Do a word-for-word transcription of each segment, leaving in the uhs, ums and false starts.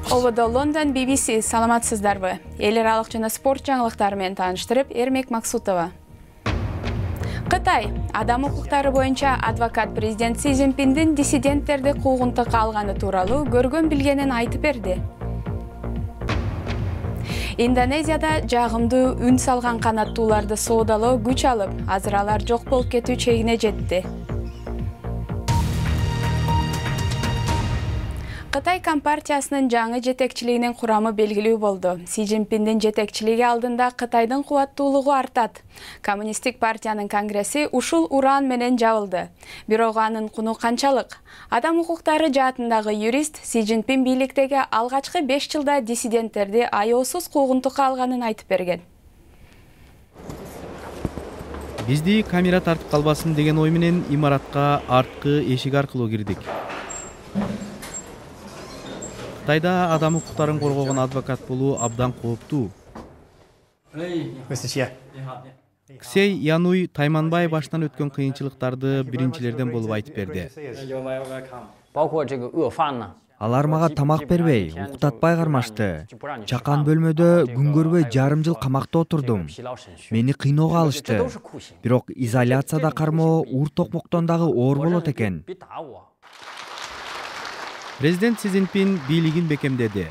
Ободо Лондон би би си саламатсыздарбы? Эл аралык жана спорт жаңылыктары менен тааныштырып, Эрмек Максутова. Кытай адам укуктары боюнча адвокат президент Си Цзиньпиндин диссиденттерди куугунтукка алганы тууралуу көргөн билгенин айтып берди. Индонезияда жагымдуу үн салган канаттууларды соодалоо күч алып, азыр алар жок болуп кетүү чегине жетти. Кытай компартиясынын жаңы жетекчилигинин курамы белгилүү болду. Си Цзиньпиндин жетекчилиги алдында Кытайдын кубаттуулугу артат. Коммунисттик партиянын конгресси ушул уран менен жабылды. Бирок анын куну канчалык? Адам укуктары жаатындагы юрист Си Цзиньпин бийликтеги алгачкы беш жылда диссиденттерди аяосуз куугунтукка алганын айтып берген. Бизди камера тартып калбасын деген ой менен имаратка арткы эшик аркылуу кирдик. Кытайда адам укуктарын коргогон адвокат болуу абдан кооптуу. Ксей Януй Тайманбай баштан өткөн кыйынчылыктарды биринчилерден болуп айтып берди. Алар мага тамак бербей, уктатпай кармашты. Чакан бөлмөдө күн көрбөй жарым жыл камакта отурдум. Мени кыйноого алышты. Бирок изоляцияда кармоо ур токмоктон дагы оор болот экен. Президент Си Цзиньпин бийлигин бекемдеди.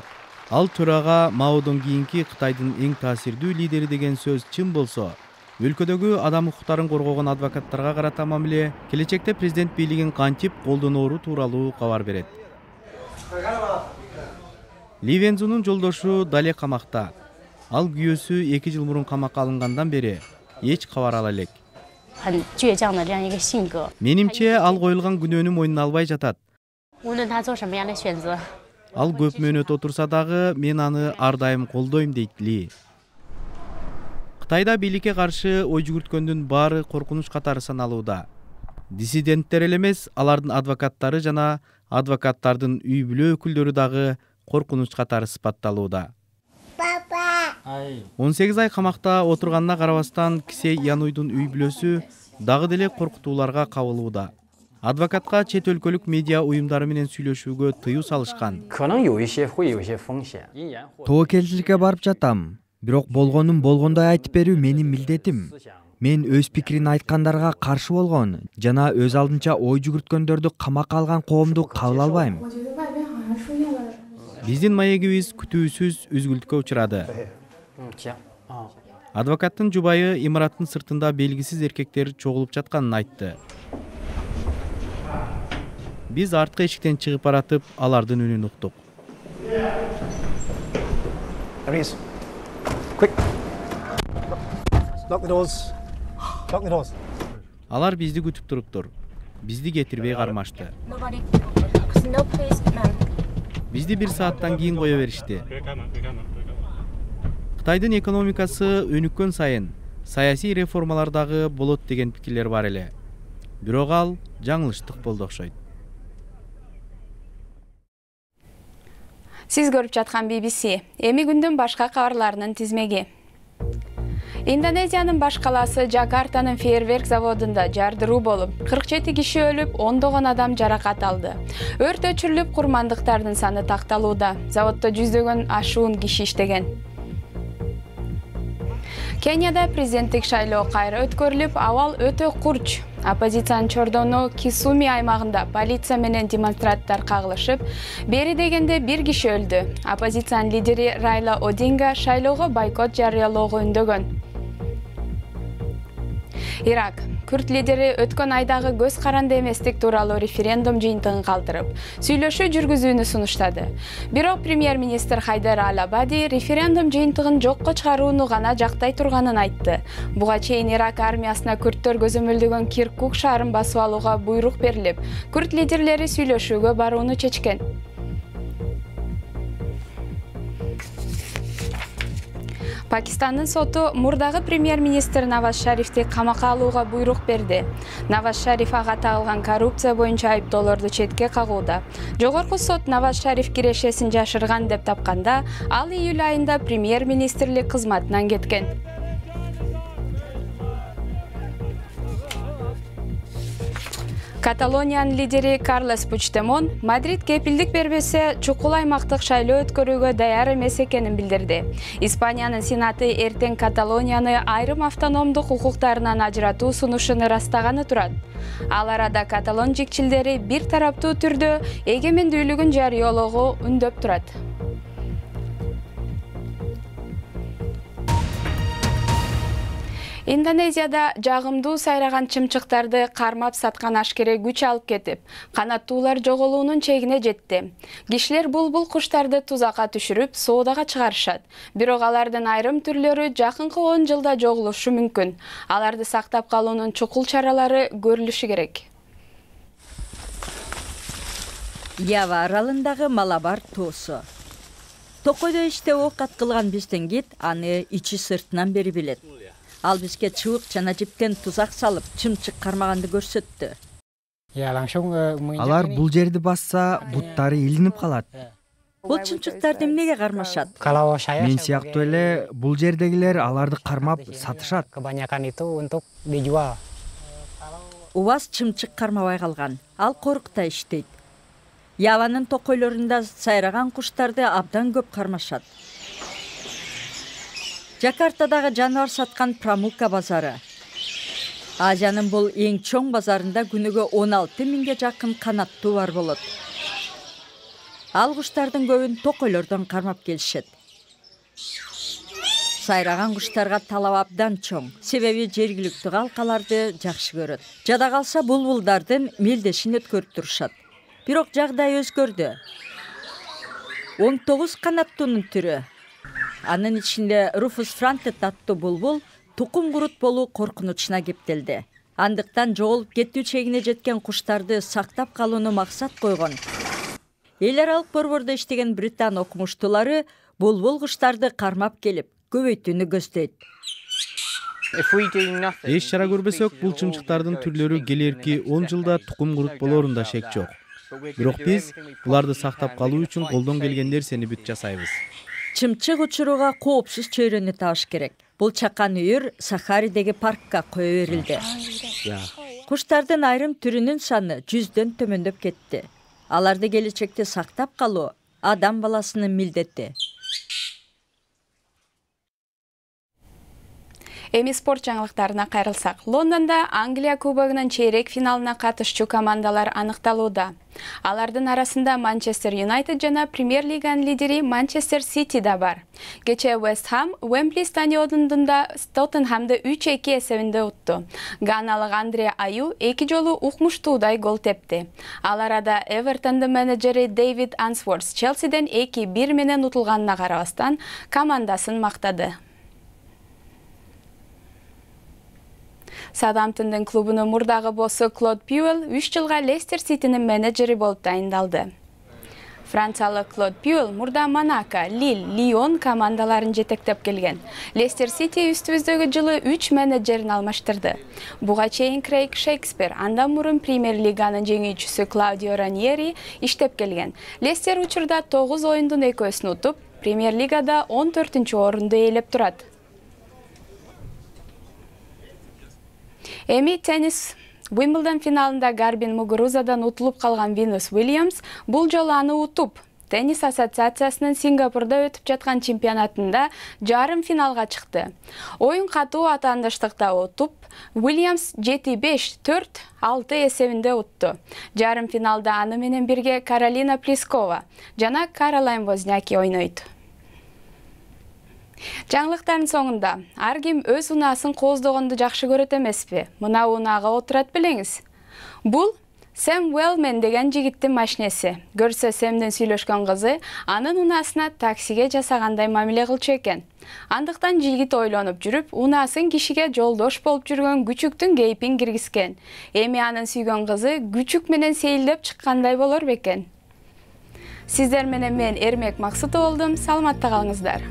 Ал төрага Маодон кийинки Кытайдын эң таасирдүү лидери деген сөз чын болсо, өлкөдөгү адам укуктарын коргогон адвокаттарга карата мамиле келечекте президент бийлигин кантип колдоноору тууралуу кабар берет. Ли Вензунун жолдошу дале камакта. Ал күйөөсү эки жыл мурун камакка алынгандан бери эч кабар ала элек. Менимче ал коюлган күнөөнү мойнуна албай жатат. Ал көп мөөнөт отурса дагы мен аны ар дайым колдойм дейт Ли. Кытайда бийликке каршы ой жүгүрткөндүн баары коркунуч катары саналууда. Диссиденттер эле эмес, алардын адвокаттары жана адвокаттардын үй бүлө өкүлдөрү дагы коркунуч катары сыпатталууда. он сегиз ай камакта отурганына карабастан Ксей Януйдун үй бүлөсү дагы деле коркутууларга кабылууда. Адвокатка чет өлкөлүк медиа уюмдары менен сүйлөшүүгө тыюу салышкан. Тобокелчиликке барып жатам. Бирок болгонун болгондой айтып берүү менин милдетим. Мен өз пикирин айткандарга каршы болгон жана өз алдынча ой жүгүрткөндөрдү камакка алган коомду кабыл албайм. Биздин маегибиз күтүүсүз үзгүлтүккө учурады. Адвокаттын жубайы имараттын сыртында белгисиз эркектер чогулуп жатканын айтты. Биз арткы эшиктен чыгып баратып, алардын үнүн уктук. Алар бизди күтүп туруптур. Бизди кетирбей кармашты. Бизди бир сааттан кийин кое беришти. Кытайдын экономикасы өнүккөн сайын саясий реформалар дагы болот деген пикирлер бар эле. Бирок ал жаңылыштык болду окшойт. Сиз көрүп жаткан би би си. Эми күндүн башка кабарларынын тизмеги. Индонезиянын баш калаасы Жакартанын фейерверк заводунда жардыруу болуп, кырк жети киши өлүп, ондогон адам жаракат алды. Өрт өчүрүлүп, курмандыктардын саны такталууда. Заводдо жүздөгөн ашуун киши иштеген. Кенияда президенттик шайлоо кайра өткөрүлүп, абал өтө курч. Оппозициянын Чордоно Кисуми аймагында полиция менен демонстранттар кагылышып, бери дегенде бир киши өлдү. Оппозициянын лидери Райла Одинга шайлоого бойкот жарыялоого үндөгөн. Ирак Күрт лидери өткөн айдагы көз каранды эместик тууралуу референдум жыйынтыгын калтырып, сүйлөшүү жүргүзүүнү сунуштады. Бирок премьер-министр Хайдар Ал-Абади референдум жыйынтыгын жокко чыгарууну гана жактай турганын айтты. Буга чейин Ирак армиясына күрттөр көзөмөлдөгөн Киркук шаарын басып алууга буйрук берилип, күрт лидерлери сүйлөшүүгө барууну чечкен. Пакистандын соту мурдагы премьер-министр Наваз Шарифти камакка алууга буйрук берди. Наваз Шариф ага тагылган коррупция боюнча айыптоолорду четке кагууда. Жогорку сот Наваз Шариф кирешесин жашырган деп тапканда, ал июль айында премьер-министрлик кызматынан кеткен. Каталониянын лидери Карлес Пучдемон Мадрид кепилдик бербесе чукул аймактык шайлоо өткөрүүгө даяр эмес экенин билдирди. Испаниянын Сенаты эртең Каталонияны айрым автономдук укуктарынан ажыратуу сунушун ырастаганы турат. Ал арада каталон жикчилдери бир тараптуу түрдө эгемендүүлүгүн жарыялоого үндөп турат. Индонезияда жагымдуу сайраган чымчыктарды кармап саткан ашкере күч алып кетип, канаттуулар жоголуунун чегине жетти. Кишилер булбул куштарды тузакка түшүрүп, соодага чыгарышат. Бирок алардын айрым түрлөрү жакынкы он жылда жоголушу мүмкүн. Аларды сактап калуунун чукул чаралары көрүлүшү керек. Ява аралындагы Малабар тоосу. Токойдо иште ок аткылган биздин кит аны ичи сыртынан бери билет. Ал бизге чыбык жана жиптен тузак салып, чымчык кармаганды көрсөттү. Алар бул жерди басса, буттары илинип калат. Бул чымчыктарды эмнеге кармашат? Мен сыяктуу эле бул жердегилер аларды кармап сатышат. Убас чымчык кармабай калган. Ал корукта иштейт. Яванын токойлорунда сайраган куштарды абдан көп кармашат. Жакартадагы жаныбар саткан Прамукка базары. Азиянын бул эң чоң базарында күнүгө он алты миңге жакын канаттуу бар болот. Ал куштардын көбүн токойлордон кармап келишет. Сайраган куштарга талап абдан чоң, себеби жергиликтүү калкаларды жакшы көрөт. Жада калса булбулдардын мелдешин өткөрүп турушат. Бирок жагдай өзгөрдү. он тогуз канаттуунун түрү. Анын ичинде Руфус Франтет аттуу булбул тукум курут болуу коркунучуна кептелди. Андыктан жоголуп кетүү чегине жеткен куштарды сактап калууну максат койгон. Эл аралык борбордо иштеген Британ окумуштуулары булбул куштарды кармап келип, көбөйтүүнү көздөйт. Эч чара көрбөсөк, бул чымчыктардын түрлөрү келерки он жылда тукум курут болоорунда шек жок. Бирок биз буларды сактап калуу үчүн колдон келген нерсени бүт жасайбыз. Чымчык учурууга коопсуз чөйрөнү табыш керек. Бул чакан үйүр Сахаридеги паркка кое берилди. Куштардын айрым түрүнүн саны жүздөн төмөндөп кетти. Аларды келечекте сактап калуу адам баласынын милдети. Эми спорт жаңылыктарына кайрылсак. Лондонда Англия кубогунун чейрек финалына катышчу командалар аныкталууда. Алардын арасында Манчестер Юнайтед жана Премьер лиганын лидери Манчестер Сити да бар. Кечээ Вест Хам Уэмбли стадионунда Тоттенхамды үч эки эсебинде утту. Ганалык Андре Аю эки жолу укмуштуудай гол тепти. Ал арада Эвертондун менеджери Дэвид Ансворс Челсиден эки бир менен утулганына карабастан командасын мактады. Саутгемптондун клубунун мурдагы боссу Клод Пьюэл үч жылга Лестер Ситинин менеджери болуп дайындалды. Франциялык Клод Пьюэл мурда Монако, Лиль, Лион командаларын жетектеп келген. Лестер Сити үстүбүздөгү жылы үч менеджерин алмаштырды. Буга чейин Крейг Шекспир, андан мурун Премьер лиганын жеңүүчүсү Клаудио Раньери иштеп келген. Лестер учурда тогуз оюндун экөөсүн утуп, Премьер лигада он төртүнчү орунду ээлеп турат. Эми теннис. Уимблдон финалында Гарбин Мугурузадан утулуп калган Винус Уильямс бул жолу аны утуп, Теннис ассоциациясынын Сингапурда өтүп жаткан чемпионатында жарым финалга чыкты. Оюн катуу атаандаштыкта утуп, Уильямс жети беш төрт алты эсебинде утту. Жарым финалда аны менен бирге Каролина Плискова жана Каролайн Возняки ойнойт. Жаңылыктардын соңунда ар ким өз унаасын кооздогонду жакшы көрөт эмеспи? Мына унаага отурат билеңиз. Бул Сэм Уэллмен деген жигиттин машинеси. Көрсө Сэмдин сүйлөшкөн кызы анын унаасына таксиге жасагандай мамиле кылчу экен. Андыктан жигит ойлонуп жүрүп, унаасын кишиге жолдош болуп жүргөн күчүктүн кейпин киргизген. Эми анын сүйгөн кызы күчүк менен сейилдеп чыккандай болор бекен. Сиздер менен мен Эрмек Максутов болдум. Саламатта калыңыздар.